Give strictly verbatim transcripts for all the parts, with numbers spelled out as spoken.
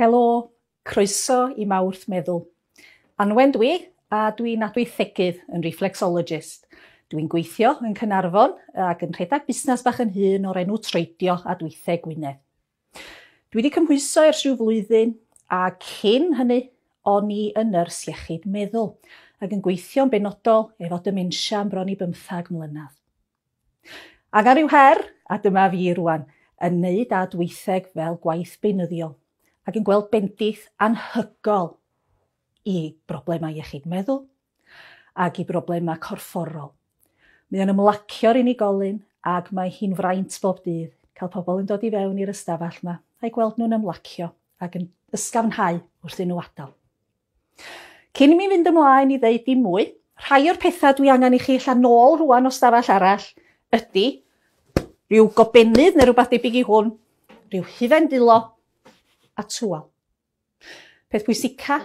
Helo, croeso i Mawrth Meddwl. Anwen dwi, a dwi'n adweithegydd yn reflexologist. Dwi'n gweithio yn Caernarfon ac yn rhedeg busnes bach yn hun o'r enw Troedio Adweitheg Gwynedd. Dwi wedi cymhwyso ers rhyw flwyddyn, a cyn hynny o'n i yn nyrs iechyd meddwl ac yn gweithio'n benodol efo dementia am bron i bymthag mlynedd. Angen rhyw her, a dyma fi rwan, yn neud adweitheg fel gwaith beunyddiol ac yn gweld bendith anhygoel i broblemau iechyd meddwl ac i broblemau corfforol. Mae o'n ymlacio'r unigolyn ac mae hi'n fraint bob dydd cael pobl yn dod i fewn i'r ystafell yma a'i gweld nhw'n ymlacio ac yn ysgafnhau wrth iddyn nhw adael. Cyn i mi fynd ymlaen i ddeud dim mwy, rhai o'r pethau dwi angen i chi ella nôl rwan o stafell arall ydy rhyw gobennydd neu rhywbeth debyg i hwn, rhyw hufen dwylo a tywel. Peth pwysica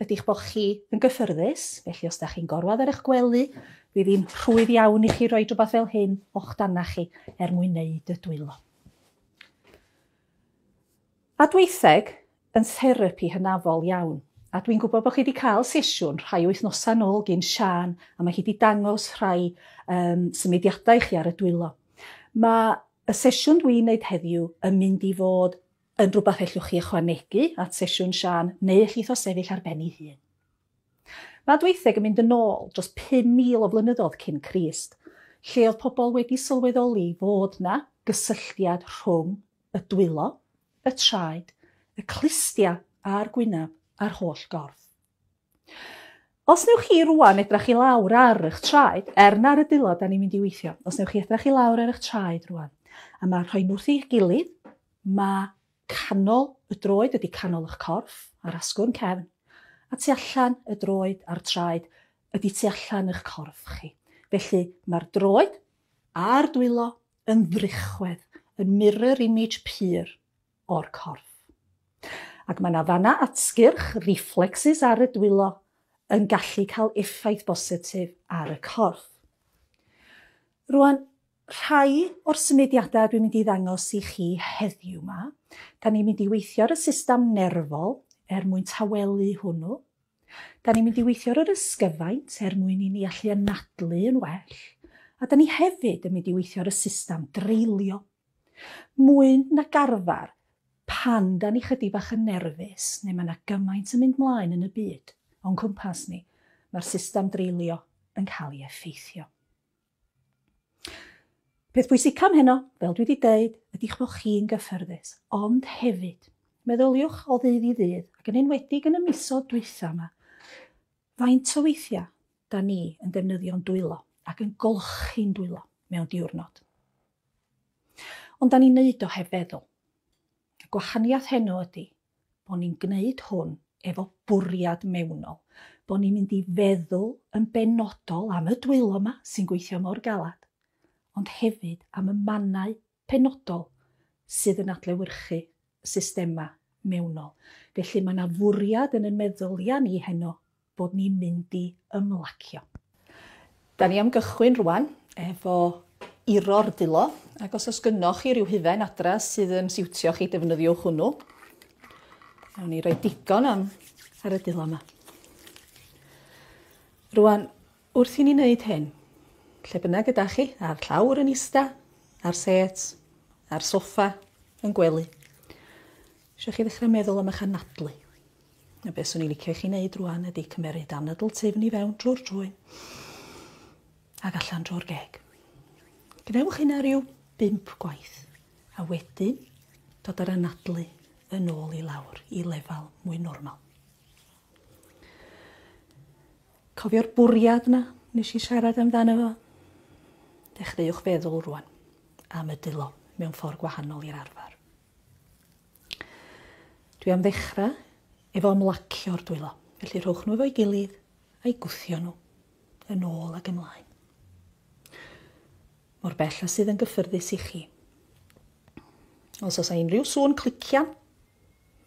ydy'ch bod chi yn gyffyrddus, felly os da chi'n gorwedd ar eich gwely, fydd hi'n rhwydd iawn i chi roi rhywbeth fel hyn o'ch dana chi er mwyn wneud y dwylo. Adweitheg yn therapi hynafol iawn, a dwi'n gwybod bod chi wedi cael sesiwn rhai wythnosau nôl gyn Siân, a mae hi wedi dangos rhai um, symudiadau i chi ar y dwylo. Mae y sesiwn dwi'n wneud heddiw yn mynd i fod yn rhywbeth ellwch chi ychwanegu at sesiwn Siân, neu ellith o sefyll ar ben ei hun. Mae adweitheg yn mynd yn ôl dros pum mil o flynyddoedd cyn Crist, lle oedd pobl wedi sylweddoli fod na gysylltiad rhwng y dwylo, y traed, y clustia a'r gwynab a'r holl gorff. Os newch chi rwan edrach i lawr ar eich traed, er na ar y dwylo da ni'n mynd i weithio, os newch chi edrach i lawr ar eich traed rwan, a mae rhoi nhw wrth eich gilydd, mae canol y droed ydy canol eich corff a'r asgwrn cefn, a tu allan y droed a'r traed ydy tu allan eich corff chi. Felly mae'r droed a'r dwylo yn ddrychwedd, yn mirror image pur o'r corff. Ac mae yna fanna atgyrch, reflexes ar y dwylo, yn gallu cael effaith bositif ar y corff. Rwan, rhai o'r symudiadau dwi'n mynd i ddangos i chi heddiw yma, da ni'n mynd i weithio ar y system nerfol er mwyn tawelu hwnnw. Da ni'n mynd i weithio ar yr ysgyfaint er mwyn i ni allu anadlu yn well. A da ni hefyd yn mynd i weithio ar y system dreulio. Mwy nag arfer, pan da ni chydig bach yn nerfus, neu mae yna gymaint yn mynd mlaen yn y byd o'n cwmpas ni, mae'r system dreulio yn cael ei effeithio. Peth pwysica am heno, fel dwi wedi deud, ydy'ch bod chi'n gyffyrddus, ond hefyd, meddyliwch o ddydd i ddydd, ac yn enwedig yn y misoedd dwytha yma, faint o weithiau da ni yn defnyddio'n dwylo ac yn golchi'n dwylo mewn diwrnod. Ond da ni'n neud o heb feddwl. Y gwahaniaeth heno ydy bod ni'n gwneud hwn efo bwriad mewnol, bod ni'n mynd i feddwl yn benodol am y dwylo yma sy'n gweithio mor galad, ond hefyd am y mannau penodol sydd yn adlewyrchu systema mewnol. Felly mae yna fwriad yn ein meddyliau ni heno bod ni'n mynd i ymlacio. Da ni am gychwyn rwan efo iro'r dwylo, ac os oes gynnoch chi ryw hufen adra sydd yn siwtio chi, defnyddiwch hwnnw. Nawn ni roi digon am ar y dwylo yma. Rwan, wrth i ni wneud hyn, lle bynnag ydach chi, ar llawr yn ista, ar set, ar soffa, yn gwely, eisiau chi ddechrau meddwl am eich anadlu. A beth swn i'n licio i chi wneud rwan ydy cymeryd anadl tyfn i fewn drwy'r trwyn ac allan drwy'r geg. Gwnewch hynna rhyw bump gwaith, a wedyn dod ar anadlu yn ôl i lawr i lefel mwy normal. Cofio'r bwriad yna nes i siarad amdano fo? Dechreuwch feddwl rwan am y dwylo mewn ffordd gwahanol i'r arfer. Dwi am ddechrau efo ymlacio'r dwylo, felly rhowch nhw efo'i gilydd a'i gwthio nhw yn ôl ac ymlaen. Mor bell a sydd yn gyffyrddus i chi. Os oes unrhyw sŵn clician,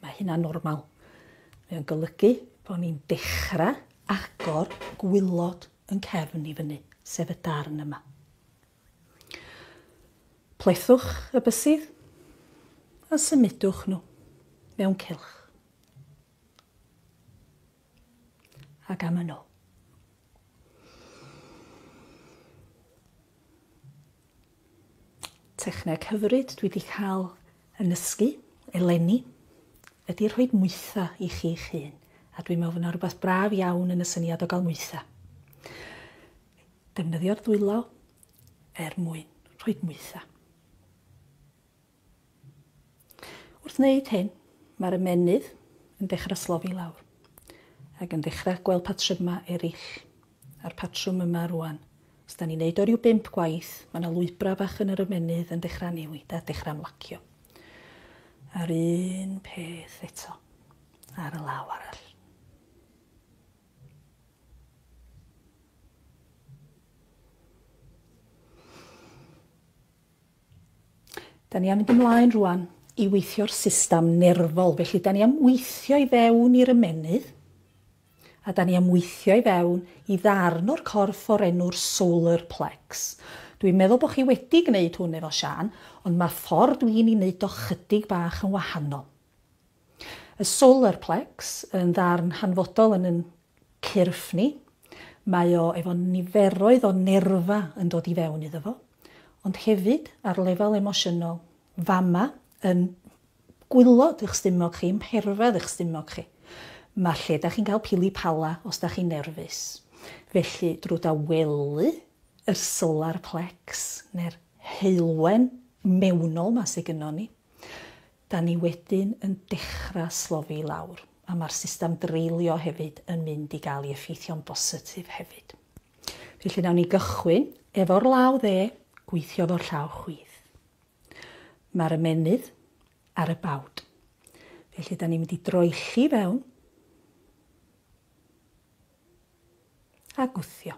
mae hynna'n normal. Mae o'n golygu bod ni'n dechrau agor gwylod yn cefn i fyny, sef y darn yma. Plethwch y bysydd a symudwch nhw mewn cylch. Ac am yn ôl. Techneg hyfryd dwi wedi cael yn nysgu eleni ydy rhoi mwytha i chi'ch hun. A dwi'n meddwl fod yna rhywbeth braf iawn yn y syniad o gael mwytha. Defnyddio'r dwylo er mwyn rhoi mwytha. Wrth wneud hyn, mae'r ymennydd yn dechrau slofi lawr ac yn dechrau gweld patrymau eraill. A'r patrwm yma rwan. Os da ni'n neud o ryw bump gwaith, mae yna lwybrau bach yn yr ymennydd yn dechrau newid a dechrau ymlacio. A'r un peth eto ar y law arall. Da ni am fynd ymlaen rwan i weithio'r system nerfol. Felly, da ni am weithio i fewn i'r ymennydd, a da ni am weithio i fewn i ddarn o'r corff o'r enw'r solar plex. Dwi'n meddwl bod chi wedi gwneud hwn efo Sian, ond mae ffordd dwi'n ei wneud o chydig bach yn wahanol. Y solar plex yn ddarn hanfodol yn yn cyrff ni. Mae o efo niferoedd o nerfa yn dod i fewn iddo fo, ond hefyd ar lefel emosiynol, fama yn gwylod eich stumog chi, ymherfedd eich stumog chi. Mae lle da chi'n cael pili pala os da chi'n nerfus. Felly, drwy dawelu y solar plex, neu'r heulwen mewnol ma sydd gynnon ni, da ni wedyn yn dechrau slofi lawr. A mae'r system dreulio hefyd yn mynd i gael ei effeithio'n bositif hefyd. Felly, nawn ni gychwyn efo'r law dde, gweithio efo'r llaw chwith. Mae'r ymennydd ar y bawd. Felly, da ni'n mynd i droelli fewn a gwthio.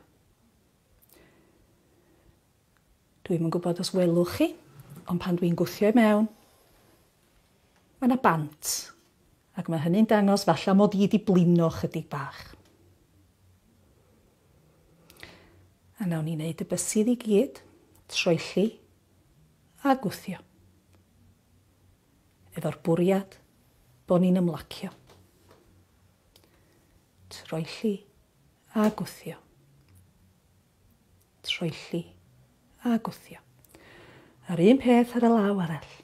Dwi'm yn gwybod os welwch chi, ond pan dwi'n gwthio i mewn, mae yna bant. Ac mae hynny'n dangos falle mod i wedi blino chydig bach. A nawn ni wneud y bysydd i gyd, troelli a gwthio. Efo'r bwriad bod ni'n ymlacio. Troelli a gwthio. Troelli a gwthio. A'r un peth ar y law arall.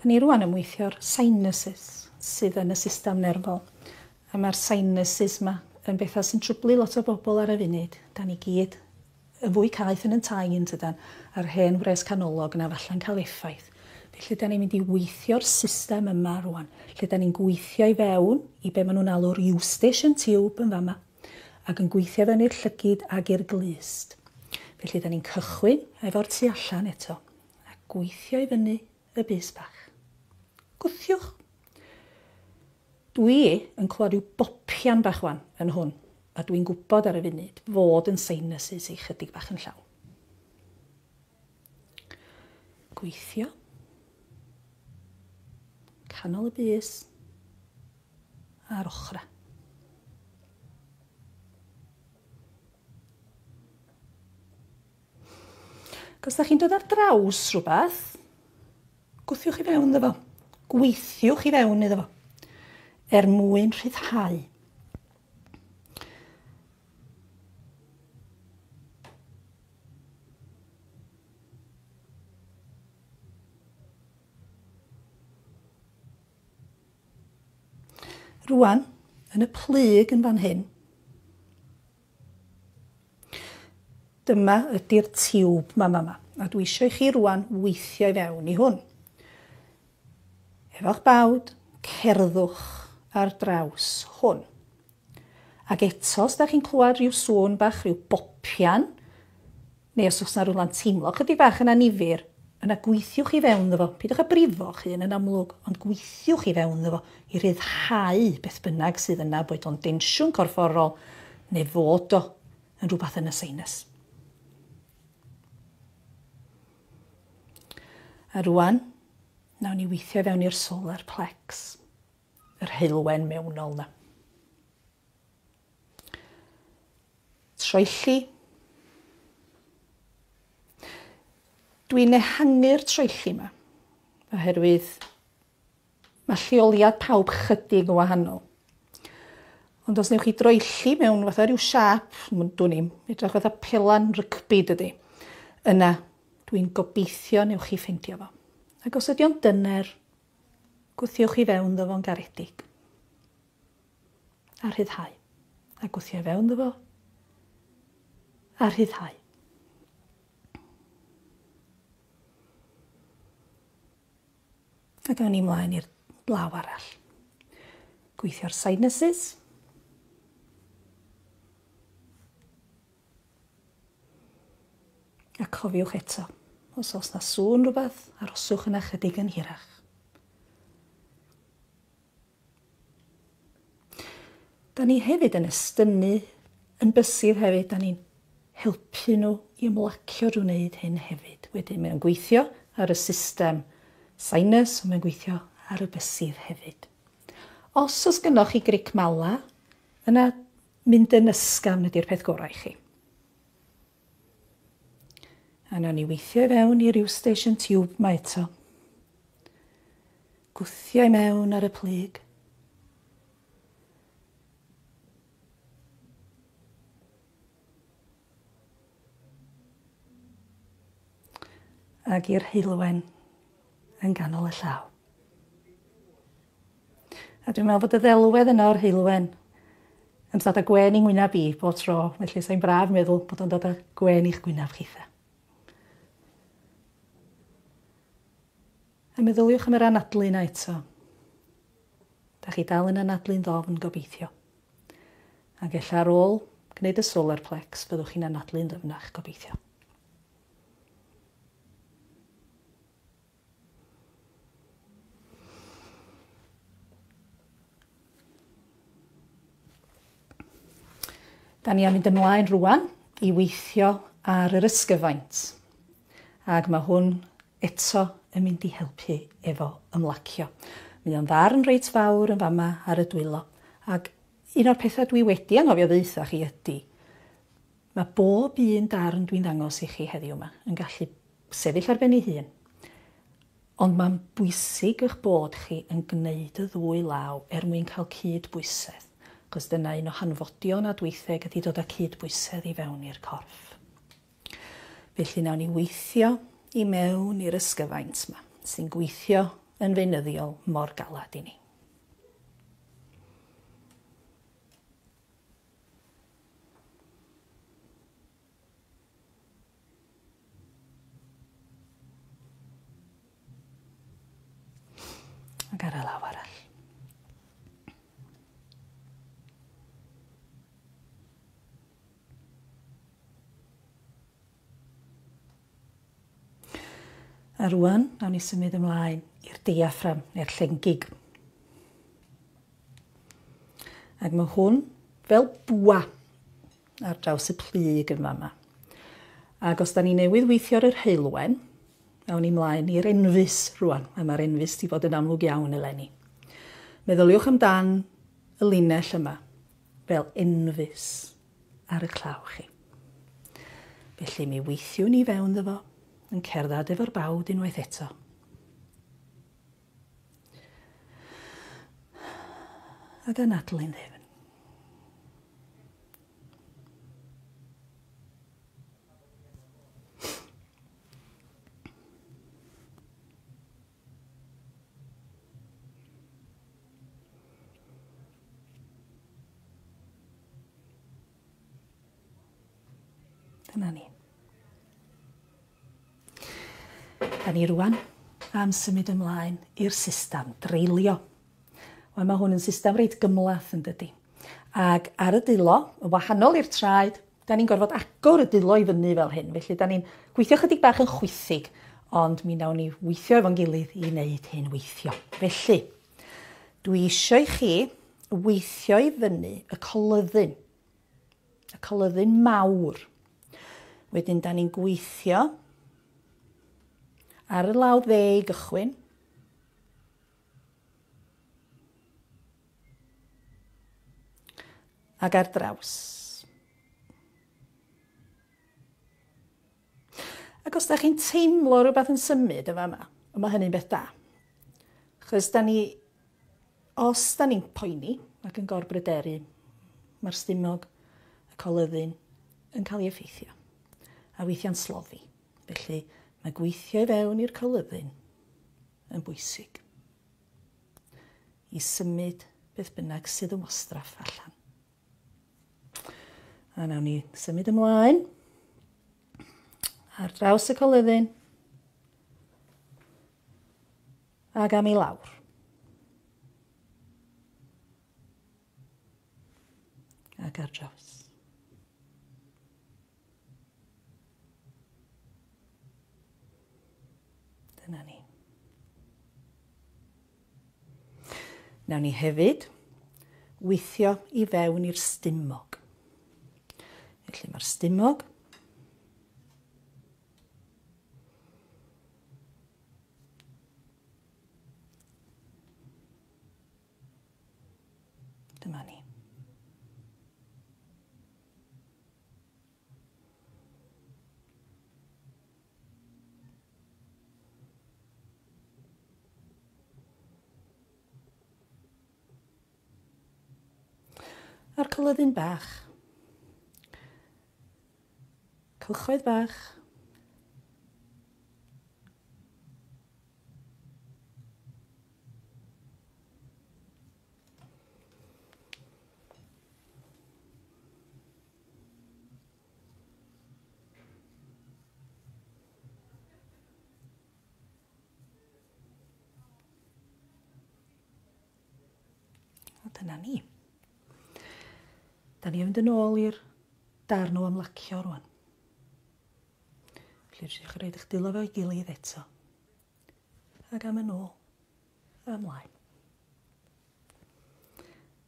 Da ni rwan yn weithio'r sinuses sydd yn y system nerfol. A mae'r sinuses yma yn bethau sy'n trwblu lot o bobl ar y funud. Da ni gyd yn fwy caeth yn yn tai yn tydan, a'r hen wres canolog yna falla'n cael effaith. Felly da ni'n mynd i weithio'r system yma rwan. Lle da ni'n gweithio i fewn i be maen nhw'n alw'r Eustachian tube yn fama, ac yn gweithio fewn i'r llygid ag i'r glust. Felly da ni'n cychwyn efo'r tu allan eto, a gweithio i fyny y bys bach. Gwthiwch. Dwi yn clywed rhyw bopian bach wan yn hwn, a dwi'n gwybod ar y funud fod yn sinuses i chydig bach yn llawn. Gweithio. Canol y bys a'r ochra. Ac os da chi'n dod ar draws rhywbeth, gwthiwch i fewn iddo fo. Gweithiwch i fewn iddo fo, er mwyn rhyddhau. Rwan, yn y plyg yn fan hyn, dyma ydy'r tiwb ma ma ma, a dwi eisiau i chi rwan weithio i fewn i hwn. Efo'ch bawd, cerddwch ar draws hwn. Ac eto, os da chi'n clywed rhyw sŵn bach, rhyw bopian, neu os oes yna rhywle'n teimlo chydig bach yn annifyr, yna gweithiwch i fewn iddo fo. Peidiwch â brifo'ch hun yn amlwg, ond gweithiwch i fewn iddo fo i ryddhau beth bynnag sydd yna, boed o'n densiwn corfforol neu fod o yn rhywbeth yn y sinus. A rwan, nawn ni weithio fewn i'r solar plex. yr heulwen mewnol na. Troelli. Dwi'n ehangu'r troelli yma, oherwydd mae lleoliad pawb chydig yn wahanol. Ond os newch chi droelli mewn fatha rhyw siâp, dwn i'm, edrych fatha pelan rygbi dydy, yna dwi'n gobeithio newch chi ffeindio fo. Ac os ydy o'n dyner, gwthiwch i fewn ddo fo'n garedig. A rhyddhau. A gwthio i fewn ddo fo. A rhyddhau. Ac awn ni mlaen i'r law arall. Gweithio'r sinuses. A cofiwch eto, os oes na sŵn rhywbeth, aroswch yna chydig yn hirach. Da ni hefyd yn estynnu, yn bysydd hefyd, da ni'n helpu nhw i ymlacio drwy wneud hyn hefyd. Wedyn mae'n gweithio ar y system sinus, ond mae'n gweithio ar y bysydd hefyd. Os oes gynnoch chi gric mala, yna mynd yn ysgafn ydy'r peth gorau i chi. A nawn ni weithio i fewn i'r Eustachian tube ma eto. Gwthio i mewn ar y plyg. Ac i'r heulwen yn ganol y llaw. A dwi'n meddwl bod y ddelwedd yna o'r heulwen yn dod â gwên i'n ngwynab i bob tro, felly sa'n braf meddwl bod o'n dod â gwên i'ch gwynab chitha. A meddyliwch am yr anadlu yna eto. Da chi dal yn anadlu'n ddofn gobeithio. Ac ella ar ôl gwneud y solar plex, byddwch chi'n anadlu'n ddyfnach gobeithio. Da ni am mynd ymlaen rwan i weithio ar yr ysgyfaint. Ac mae hwn eto yn mynd i helpu efo ymlacio. Mae o'n ddarn reit fawr yn fama ar y dwylo. Ac un o'r pethau dwi wedi anghofio ddeutha chi ydy, mae bob un darn dwi'n ddangos i chi heddiw yma yn gallu sefyll ar ben ei hun. Ond mae'n bwysig eich bod chi yn gwneud y ddwy law er mwyn cael cydbwysedd. Achos dyna un o hanfodion adweitheg ydy dod â cydbwysedd i fewn i'r corff. Felly nawn ni weithio i mewn i'r ysgyfaint yma, sy'n gweithio yn feunyddiol mor galad i ni. Ac ar y law arall. A rwan, nawn ni symud ymlaen i'r diaffram, neu'r llengig. Ac mae hwn fel bwa ar draws y plyg yn fama. Ac os da ni newydd weithio ar yr heulwen, nawn ni mlaen i'r enfys rwan, a mae'r enfys di fod yn amlwg iawn eleni. Meddyliwch amdan y linell yma fel enfys ar y claw chi. Felly mi weithiwn ni fewn ddo fo, yn cerdded efo'r bawd unwaith eto. Ac anadlu'n ddifn. Dyna ni. Da ni rwan am symud ymlaen i'r system dreulio. Wel, mae hwn yn system reit gymhleth yn dydy. Ac ar y dwylo, yn wahanol i'r traed, da ni'n gorfod agor y dwylo i fyny fel hyn. Felly da ni'n gweithio chydig bach yn chwithig, ond mi nawn ni weithio efo'n gilydd i wneud hyn weithio. Felly, dwi eisiau i chi weithio i fyny y coluddyn, y coluddyn mawr. Wedyn da ni'n gweithio ar y law dde i gychwyn. Ac ar draws. Ac os da chi'n teimlo rhywbeth yn symud yn fama, mae hynny'n beth da. Chos da ni, os da ni'n poeni ac yn gorbryderu, mae'r stumog, y coluddyn, yn cael ei effeithio. A weithiau'n slofi. Felly mae gweithio i fewn i'r coluddyn yn bwysig. I symud beth bynnag sydd yn wastraff allan. A nawn ni symud ymlaen ar draws y coluddyn ac am i lawr. Ac ar draws. Dyna ni. Nawn ni hefyd weithio i fewn i'r stumog. Felly mae'r stumog dyma ni. A'r coluddyn bach. Cylchoedd bach. A dyna ni. Da ni yn mynd yn ôl i'r darn o ymlacio rwan. Felly, rydych chi'n rhaid eich dwylo efo'i gilydd eto. Ac am yn ôl, a ymlaen.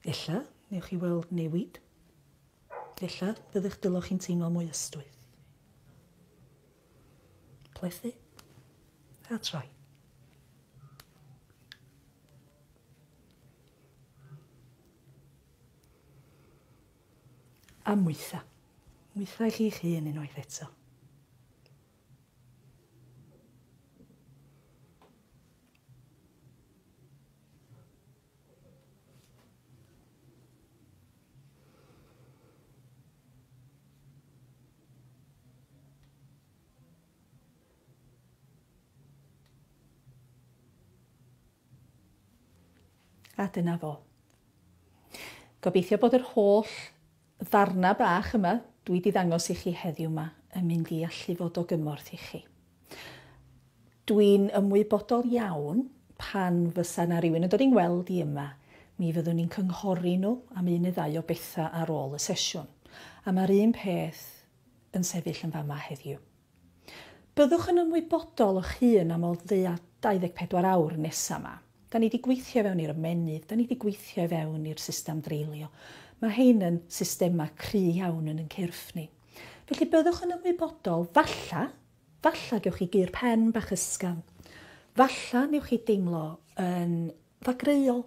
Ella, newch chi weld newid. Ella, fydd eich dwylo chi'n teimlo mwy ystwyth. Plethu, a troi. A mwytha. Mwytha i chi'ch hun unwaith eto. A dyna fo. Gobeithio bod yr holl ddarna bach yma dwi wedi ddangos i chi heddiw yma yn mynd i allu fod o gymorth i chi. Dwi'n ymwybodol iawn pan fysa na rhywun yn dod i'n gweld i yma, mi fyddwn ni'n cynghori nhw am un neu ddau o bethau ar ôl y sesiwn. A mae'r un peth yn sefyll yn fama heddiw. Byddwch yn ymwybodol o'ch hun am o ddeua dau ddeg pedwar awr nesaf yma. Da ni wedi gweithio fewn i'r ymennydd, da ni wedi gweithio fewn i'r system dreulio. Mae hein yn systemau cry iawn yn ein cyrff ni. Felly byddwch yn ymwybodol, falla, falla gewch chi gur pen bach ysgafn. Falla newch chi deimlo yn ddagreuol.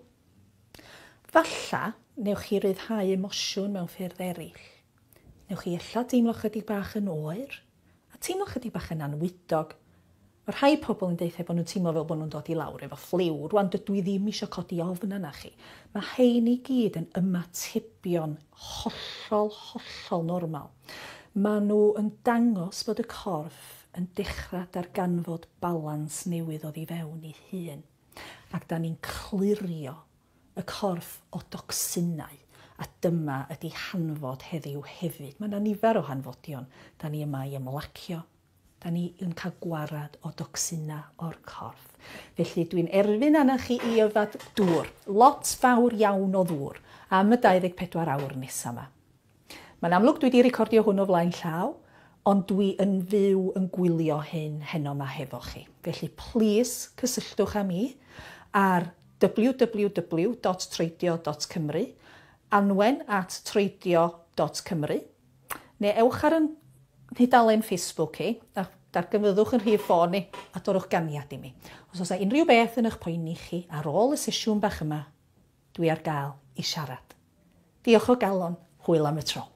Falla newch chi ryddhau emosiwn mewn ffyrdd eraill. Newch chi ella deimlo chydig bach yn oer, a teimlo chydig bach yn anwydog. Mae rhai pobl yn deutha bod nhw'n teimlo fel bod nhw'n dod i lawr efo ffliw. Rwan dydw i ddim eisiau codi ofn yna chi. Mae hein i gyd yn ymatebion hollol, hollol normal. Maen nhw yn dangos bod y corff yn dechrau darganfod balans newydd oddi fewn i hun. Ac da ni'n clirio y corff o docsinau. A dyma ydy hanfod heddiw hefyd. Mae yna nifer o hanfodion. Da ni yma i ymlacio. Da ni yn cael gwarad o docsina o'r corff. Felly dwi'n erfyn arna chi i yfad dŵr. Lot fawr iawn o ddŵr am y dau ddeg pedwar awr nesaf yma. Mae'n amlwg dwi wedi recordio hwn o flaen llaw, ond dwi yn fyw yn gwylio hyn heno yma hefo chi. Felly plis cysylltwch â mi ar w w w dot troedio dot cymru, anwen at troedio dot cymru, neu ewch ar yn nhudalen Facebook i, a darganfyddwch yn rhif ffôn i, a dorwch ganiad i mi. Os oes unrhyw beth yn eich poeni chi ar ôl y sesiwn bach yma, dwi ar gael i siarad. Diolch o galon, Hwyl am y tro.